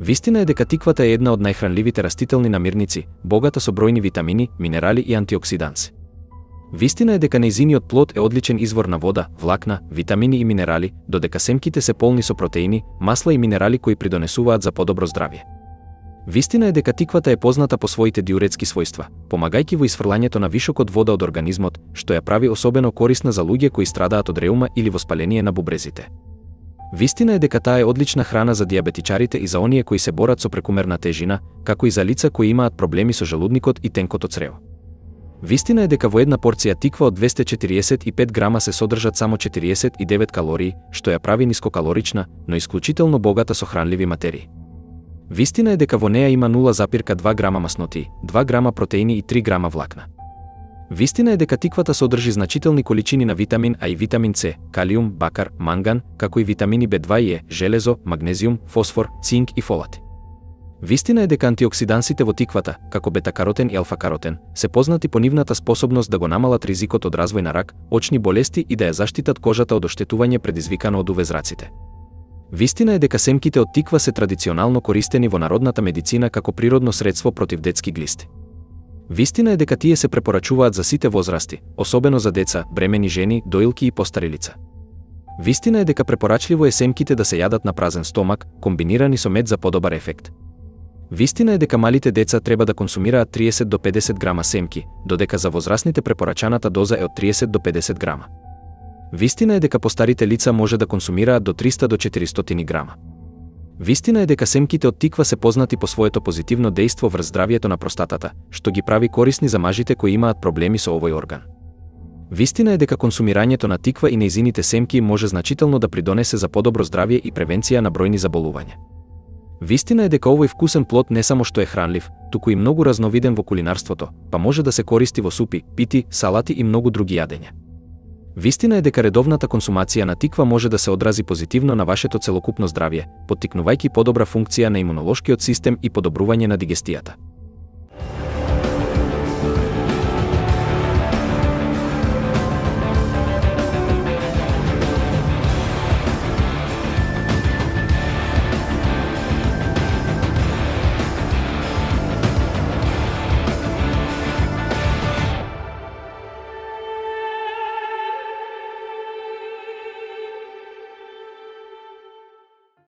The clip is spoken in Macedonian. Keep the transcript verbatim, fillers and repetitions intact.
Вистина е дека тиквата е една од најхранливите растителни намирници, богата со бројни витамини, минерали и антиоксиданси. Вистина е дека нејзиниот плод е одличен извор на вода, влакна, витамини и минерали, додека семките се полни со протеини, масла и минерали кои придонесуваат за подобро здравје. Вистина е дека тиквата е позната по своите диуретски својства, помагајќи во исфрлањето на вишокот вода од организмот, што ја прави особено корисна за луѓе кои страдаат од реума или воспаление на бубрезите. Вистина е дека таа е одлична храна за диабетичарите и за оние кои се борат со прекумерна тежина, како и за лица кои имаат проблеми со желудникот и тенкото црево. Вистина е дека во една порција тиква од двесте четириесет и пет грама се содржат само четириесет и девет калории, што ја прави нискокалорична, но исклучително богата со хранливи материи. Вистина е дека во неа има нула запирка две грама масноти, два грама протеини и три грама влакна. Вистина е дека тиквата содржи значителни количини на витамин А и витамин С, калиум, бакар, манган, како и витамини Б два и Е, железо, магнезиум, фосфор, цинк и фолати. Вистина е дека антиоксидансите во тиквата, како бета-каротен и алфа-каротен, се познати по нивната способност да го намалат ризикот од развој на рак, очни болести и да ја заштитат кожата од оштетување предизвикано од увезраците. Вистина е дека семките од тиква се традиционално користени во народната медицина како природно средство против детски глисти. Вистина е дека тие се препорачуваат за сите возрасти, особено за деца, бремени жени, доилки и постари лица. Вистина е дека препорачливо е семките да се јадат на празен стомак, комбинирани со мед за подобар ефект. Вистина е дека малите деца треба да консумираат триесет до педесет грама семки, додека за возрастните препорачаната доза е од триесет до педесет грама. Вистина е дека постарите лица може да консумираат до триста до четиристотини грама. Вистина е дека семките од тиква се познати по своето позитивно дејство врз здравјето на простатата, што ги прави корисни за мажите кои имаат проблеми со овој орган. Вистина е дека консумирањето на тиква и нејзините семки може значително да придонесе за подобро здравје и превенција на бројни заболувања. Вистина е дека овој вкусен плод не само што е хранлив, туку и многу разновиден во кулинарството, па може да се користи во супи, пити, салати и многу други јадења. Вистина е дека редовната консумација на тиква може да се одрази позитивно на вашето целокупно здравје, поттикнувајќи подобра функција на имунолошкиот систем и подобрување на дигестијата.